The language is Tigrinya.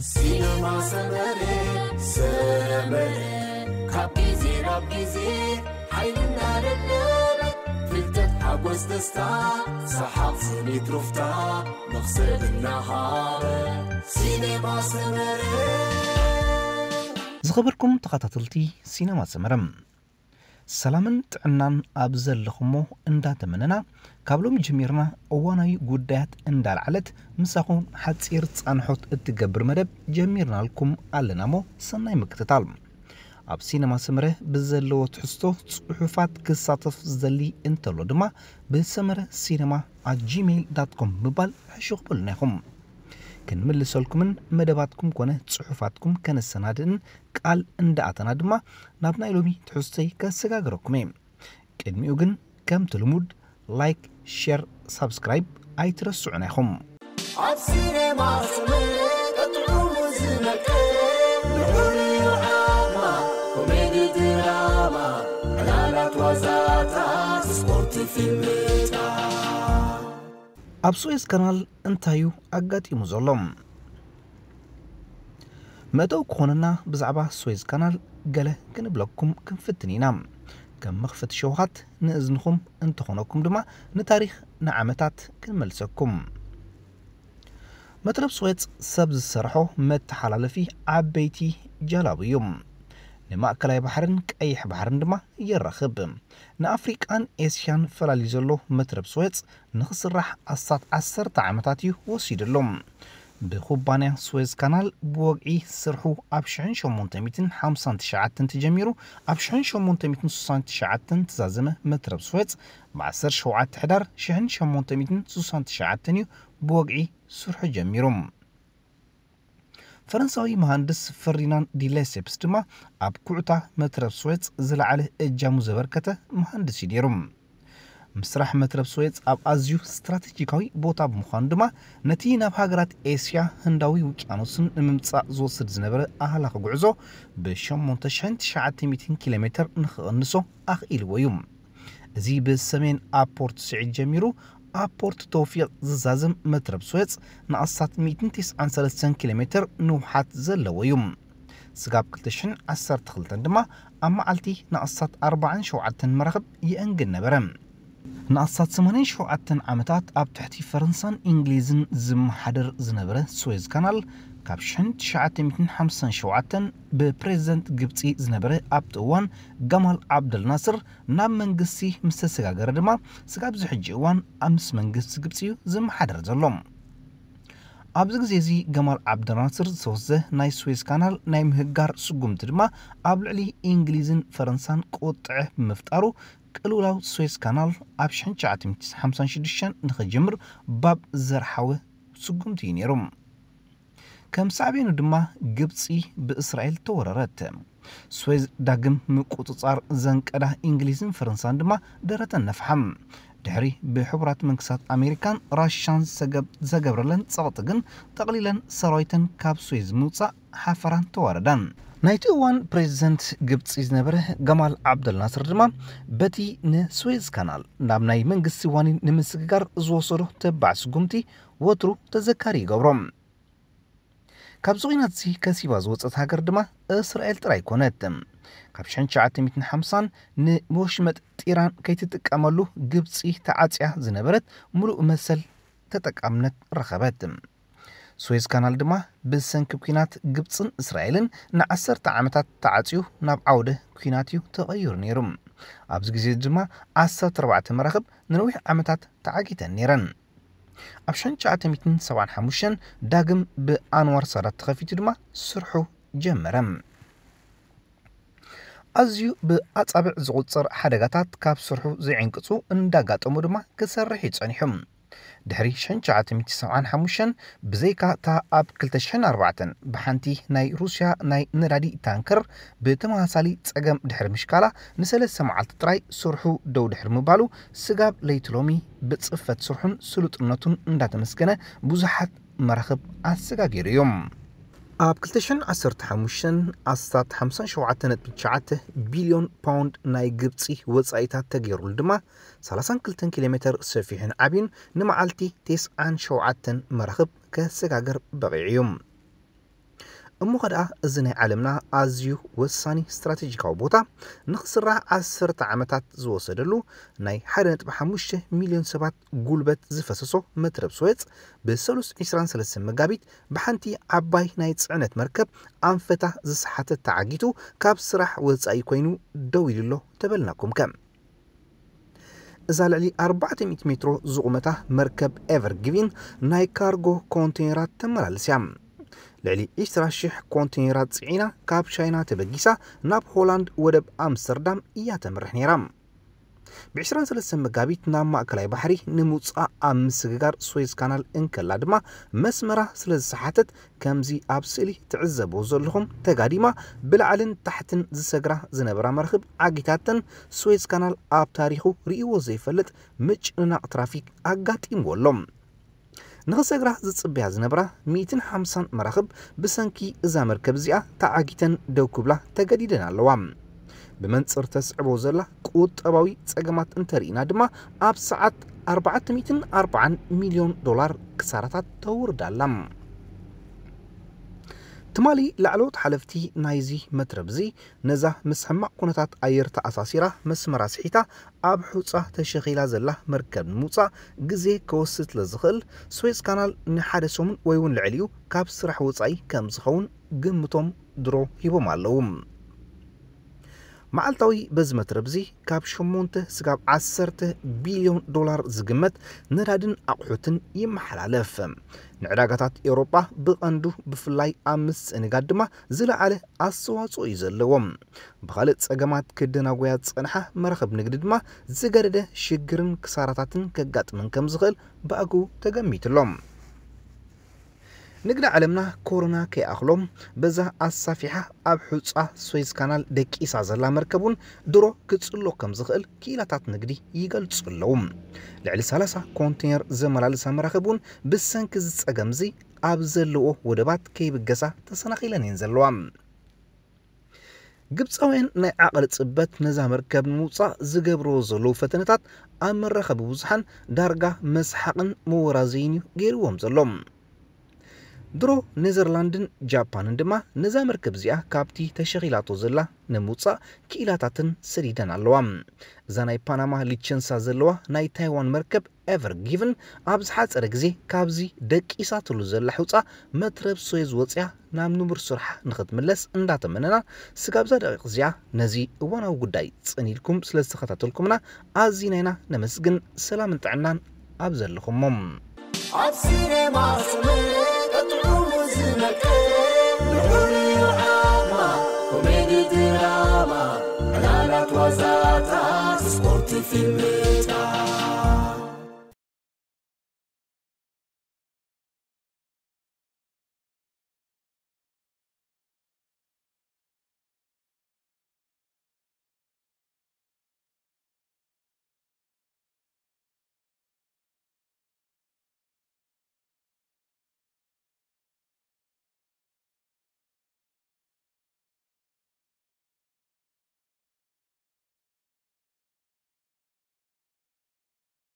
ሲነማ ሰመረ፣ ሰመረ፣ ካብ ግዜ ናብ ግዜ ሓይልና ደለበ፣ ፍልጠት፣ ሓጎስ፣ ደስታ፣ ሰሓቕ፣ ስኒት፣ ሩፍታ፣ መኽሰብ እናሃበ። ሲነማ ሰመረ። ዝኸበርኩም ተኸታተልቲ ሲነማ ሰመረ፣ ሰላምን ጥዕናን ኣብ ዘለኹሞ እንዳተመነና፣ ካብ ሎሚ ጀሚርና እዋናዊ ጉዳያት እንዳልዓለት ምሳኹም ሓጺር ጻንሖት እትገብር መደብ ጀሚርናልኩም ኣለና እሞ ሰናይ ምክትታል። ኣብ ሲነማ ሰመረ ብዘለዎ ትሕዝቶ ጽሑፋት ክሳተፍ ዝደሊ እንተሎ ድማ ብሰመረ ሲነማ ኣት ጂሜይል ዳት ኮም ብምባል ሕሹኽ በሉና ኢኹም። ክንምልሰልኩምን መደባትኩም ኮነ ጽሑፋትኩም ከነሰናድእን ቃል እንዳኣተና ድማ ናብ ናይ ሎሚ ትሕዝቶይ ከሰጋግረኩም እየ። ቅድሚኡ ግን ከምቲ ልሙድ ላይክ፣ ሼር፣ ሳብስክራይብ ኣይትረስዑና ኢኹም። ኣብ ሲነማ ሰመረ ቀጥዑ ዝመቀ፣ ልዑል ድራማ፣ ኮሜዲ ድራማ፣ ዕላላት ዋዛታት፣ ስፖርት፣ ፊልምታት። ኣብ ስዌዝ ካናል እንታይ እዩ ኣጋጢሙ ዘሎ? መእተዊ ክኾነና ብዛዕባ ስዌዝ ካናል ገለ ክንብለኩም ክንፍትን ኢና። ከም መኽፈቲ ሸውሃት ንእዝንኹም እንተኾነኩም ድማ ንታሪኽ ንዓመታት ክንመልሰኩም። መትረብ ስዌዝ ሰብ ዝሰርሖ መተሓላለፊ ዓበይቲ ጀላቡ እዩ። ንማእከላይ ባሕርን ቀይሕ ባሕርን ድማ የራኽብ። ንኣፍሪቃን ኤስያን ፈላልዩ ዘሎ መትረብ ስዌዝ ንኽስራሕ ኣስታት ዓሰርተ ዓመታት እዩ ወሲድሉ። ብኩባንያ ስዌዝ ካናል ብወግዒ ስርሑ ኣብ ሽሕን ሸሞንተ ሚእትን ሓምሳን ትሽዓተን ተጀሚሩ፣ ኣብ ሽሕን ሸሞንተ ሚእትን ስሳን ትሽዓተን ተዛዘመ። መትረብ ስዌዝ ብ ዓሰርተ ሸውዓተ ሕዳር ሽሕን ሸሞንተ ሚእትን ስሳን ትሽዓተን እዩ ብወግዒ ስርሑ ጀሚሩ። ፈረንሳዊ መሃንድስ ፈርዲናንድ ዲ ሌሴፕስ ድማ ኣብ ኩዕታ መትረብ ስዌዝ ዝለዓለ እጃሙ ዘበርከተ መሃንድስ እዩ ነይሩ። ምስራሕ መትረብ ስዌዝ ኣብ ኣዝዩ ስትራቴጂካዊ ቦታ ብምዃኑ ድማ ነቲ ናብ ሃገራት ኤስያ ህንዳዊ ውቅያኖስን ንምምጻእ ዝወስድ ዝነበረ ኣህላኺ ጉዕዞ ብ ሸሞንተ ሽሕን ትሽዓተ ሚእትን ኪሎ ሜትር ንኽቕንሶ ኣኽኢልዎ እዩ። እዚ ብሰሜን ኣብ ፖርት ስዒድ ጀሚሩ ኣብ ፖርት ተውፊቕ ዝዛዘም መትረብ ስዌዝ ንኣስታት ሚእትን ተስዓን ሰለስተን ኪሎ ሜትር ንውሓት ዘለዎ እዩ። ስጋብ ክልተ ሽሕን ዓሰርተ ክልተን ድማ ኣብ መዓልቲ ንኣስታት ኣርባዓን ሸውዓተን መራኽብ ይእንግድ ነበረ። ንኣስታት ሰማንያን ሸውዓተን ዓመታት ኣብ ትሕቲ ፈረንሳን እንግሊዝን ዝመሓደር ዝነበረ ስዌዝ ካናል ካብ ሽሕን ትሽዓተ ሚእትን ሓምሳን ሸውዓተን ብፕሬዝደንት ግብጺ ዝነበረ ኣብቲ እዋን ጋማል ዓብደል ናስር ናብ መንግስቲ ምስ ተሰጋገረ ድማ ስጋብ እዚ ሕጂ እዋን ምስ መንግስቲ ግብጺ እዩ ዝመሓደር ዘሎ። ኣብዚ ግዜ እዚ ገማል ዓብደልናስር ዝተወስደ ናይ ስዌዝ ካናል ናይ ምህጋር ስጉምቲ ድማ ኣብ ልዕሊ እንግሊዝን ፈረንሳን ቁጥዐ ብምፍጣሩ ቅልውላው ስዌዝ ካናል ኣብ ሽሕን ትሽዓተ ሚእትን ሓምሳን ሽዱሽተን ንኽጅምር ባብ ዘርሓወ ስጉምቲ እዩ ነይሩ። ከም ሳዕቤኑ ድማ ግብጺ ብእስራኤል ተወረረት። ስዌዝ ዳግም ምቁጽጻር ዘንቀዳ እንግሊዝን ፈረንሳን ድማ ደረተን ነፍሓ። ድሕሪ ብሕቡራት መንግስታት ኣሜሪካን ራሻን ዘገብ-፣ ዘገብረለን ጸቕጢ ግን ጠቕሊለን ሰራዊተን ካብ ስዌዝ ምውጻእ ሓፈራን ተዋረዳን። ናይቲ እዋን ፕሬዝደንት ግብጺ ዝነበረ ገማል ዓብደል ናስር ድማ በቲ ንስዌዝ ካናል ናብ ናይ መንግስቲ ዋኒን ንምስግጋር ዝወሰዶ ተባዕ ስጉምቲ ወትሩ ተዘካሪ ይገብሮ። ካብዚ ኲናት እዚ ከሲባ ዝወጸት ሃገር ድማ እስራኤል ጥራይ ኮነት። ካብ ሽሕን ትሽዓተ ሚእትን ሓምሳን ንወሽመጥ ጢራን ከይትጥቀመሉ ግብጺ ተዓጽያ ዝነበረት ምሉእ መሰል ተጠቃምነት ረኸበት። ስዌዝ ካናል ድማ ብሰንኪ ኲናት ግብጽን እስራኤልን ንዓሰርተ ዓመታት ተዓጽዩ ናብ ዓውደ ኲናት እዩ ተቐይሩ ነይሩ። ኣብዚ ግዜ ድማ ዓሰርተ ኣርባዕተ መራኽብ ንነዊሕ ዓመታት ተዓጊተን ነይረን። ኣብ ሽሕን ትሽዓተ ሚእትን ሰብዓን ሓሙሽተን ዳግም ብኣንዋር ሳዳት ተኸፊቱ ድማ ስርሑ ጀመረ። ኣዝዩ ብኣጻብዕ ዝቑጸር ሓደጋታት ካብ ስርሑ ዘይዕንቅጹ እንዳጋጠሙ ድማ ክሰርሕ እዩ ጸኒሑ። ድሕሪ ሽሕን ትሽዓተ ሚእትን ሰብዓን ሓሙሽተን ብዘይካ እታ ኣብ ክልተ ሽሕን ኣርባዕተን ብሓንቲ ናይ ሩስያ ናይ ነዳዲ ታንከር ብተመሳሳሊ ጸገም ድሕሪ ምሽካላ ንሰለስተ መዓልቲ ጥራይ ስርሑ ደው ድሕሪ ምባሉ ስጋብ ለይቲ ሎሚ ብጽፈት ስርሑን ስሉጥነቱን እንዳተመስገነ ብዙሓት መራኽብ ኣሰጋጊሩ እዩ። ኣብ ክልተ ሽሕን ዓሰርተ ሓሙሽተን ኣስታት ሓምሳን ሸውዓተን ነጥቢ ትሽዓተ ቢልዮን ፓውንድ ናይ ግብጺ ወጻኢታት ተገይሩሉ ድማ ሰላሳን ክልተን ኪሎ ሜትር ሰፊሑን ዓብዩን ንመዓልቲ ተስዓን ሸውዓተን መራኽብ ከሰጋግር በቒዑ እዩ። እሞ ኸ ደኣ እዚ ናይ ዓለምና ኣዝዩ ወሳኒ ስትራቴጂካዊ ቦታ ንኽስራሕ ዓሰርተ ዓመታት ዝወሰደሉ፣ ናይ ሓደ ነጥቢ ሓሙሽተ ሚልዮን ሰባት ጉልበት ዝፈሰሶ መትረብ ስዌጽ፣ ብሰሉስ ዕስራን ሰለስተን መጋቢት ብሓንቲ ዓባይ ናይ ጽዕነት መርከብ ኣንፈታ ዝሰሓተት ተዓጊቱ ካብ ስራሕ ወጻኢ ኮይኑ ደው ኢሉ ኣሎ ተበልናኩም ከ። እዛ ልዕሊ ኣርባዕተ ሚእቲ ሜትሮ ዝቑመታ መርከብ ኤቨር ጊቪን ናይ ካርጎ ኮንቴነራት ተመላልስ እያ። ልዕሊ ዕስራ ሽሕ ኮንቴነራት ጽዒና ካብ ቻይና ተበጊሳ ናብ ሆላንድ ወደብ ኣምስተርዳም እያ ተምርሕ ነይራ። ብ ዕስራን ሰለስተን መጋቢት ናብ ማእከላይ ባሕሪ ንምውጻእ ኣብ ምስግጋር ስዌዝ ካናል እንከላ ድማ መስመራ ስለ ዝሰሓተት፣ ከምዚ ኣብ ስእሊ ትዕዘብዎ ዘለኹም ተጋዲማ ብላዕልን ታሕትን ዝሰግራ ዝነበራ መራኽብ ዓጊታተን፣ ስዌዝ ካናል ኣብ ታሪኹ ርእይዎ ዘይፈልጥ ምጭንናቕ ትራፊክ ኣጋጢምዎ ኣሎ። ንኽሰግራ ዝጽበያ ዝነብራ ሚእትን ሓምሳን መራኽብ ብሰንኪ እዛ መርከብ እዚኣ ተዓጊተን ደው ክብላ ተገዲደን ኣለዋ። ብመንጽር ተስዕቦ ዘላ ቁጠባዊ ጸገማት እንተርኢና ድማ፣ ኣብ ሰዓት ኣርባዕተ ሚእትን ኣርባዓን ሚልዮን ዶላር ክሳራታት ተውርዳ ኣላ። ትማሊ ላዕለዎት ሓለፍቲ ናይዚ መትረብ እዚ ነዛ ምስ ሕማቕ ኩነታት ኣየር ተኣሳሲራ መስመራ ስሒታ ኣብ ሑጻ ተሸኺላ ዘላ መርከብ ንምውጻእ ግዜ ክወስድ ስለ ዝኽእል፣ ስዌዝ ካናል ንሓደ ሰሙን ወይ እውን ልዕሊኡ ካብ ስራሕ ወጻኢ ከም ዝኸውን ግምቶም ድሮ ሂቦም ኣለዉ። መዓልታዊ በዚ መትረብ እዚ ካብ ሸሞንተ ስጋብ ዓሰርተ ቢልዮን ዶላር ዝግመት ነዳድን ኣቑሑትን ይመሓላለፍ። ንዕዳጋታት ኤውሮጳ ብቐንዱ፣ ብፍላይ ኣብ ምስእንጋድ ድማ ዝለዓለ ኣስተዋጽኦ እዩ ዘለዎ። ብኻልእ ጸገማት ክደናጎያ ዝጸንሓ መራኽብ ንግዲ ድማ ዝገደደ ሽግርን ክሳራታትን ከጋጥመን ከም ዝኽእል ብኣግኡ ተገሚቱ ኣሎ። ንግዲ ዓለምና ኮሮና ከይኣኽሎም በዛ ኣሳፊሓ ኣብ ሑጻ ስዌዝ ካናል ደቂሳ ዘላ መርከብ እውን ድሮ ክጽሎ ከም ዝኽእል ክኢላታት ንግዲ ይገልጹ ኣለዉ። ልዕሊ ሰላሳ ኮንቴነር ዘመላልሳ መራኽብ እውን ብሰንኪ እዚ ጸገም እዚ ኣብ ዘለዎ ወደባት ከይብገሳ ተሰናኺለን እየን ዘለዋ። ግብጻውያን ናይ ዓቕሊ ጽበት ነዛ መርከብ ንምውጻእ ዝገብርዎ ዘለዉ ፈተነታት ኣብ መራኸቢ ብዙሓን ዳርጋ መስሓቕን መወራዘይን እዩ ገይርዎም ዘሎ። ድሮ ኔዘርላንድን ጃፓንን ድማ ነዛ መርከብ እዚኣ ካብቲ ተሸኺላቶ ዘላ ንምውጻእ ክኢላታትን ሰዲደን ኣለዋ። እዛ ናይ ፓናማ ሊቸንሳ ዘለዋ ናይ ታይዋን መርከብ ኤቨር ጊቭን ኣብ ዝሓጸረ ግዜ ካብዚ ደቂሳትሉ ዘላ ሑጻ መትረብ ስዌዝ ወጽያ ናብ ንቡር ስርሓ ንኽትምለስ እንዳተመነና፣ ስጋብ እዛ ደቂቕ እዚኣ ነዚ እዋናዊ ጉዳይ ጽን ኢልኩም ስለ ዝተኸታተልኩምና ኣዚና ኢና ነመስግን። ሰላምን ጥዕናን ኣብ ዘለኹሞ። ኣብ ሲኔማ ስምዒት ጥዑሙ ዝነቅል ልዑል እዩ ዓቕማ፣ ኮሜዲ ድራማ፣ ዕላላት ዋዛታት፣ ስፖርት ፊልም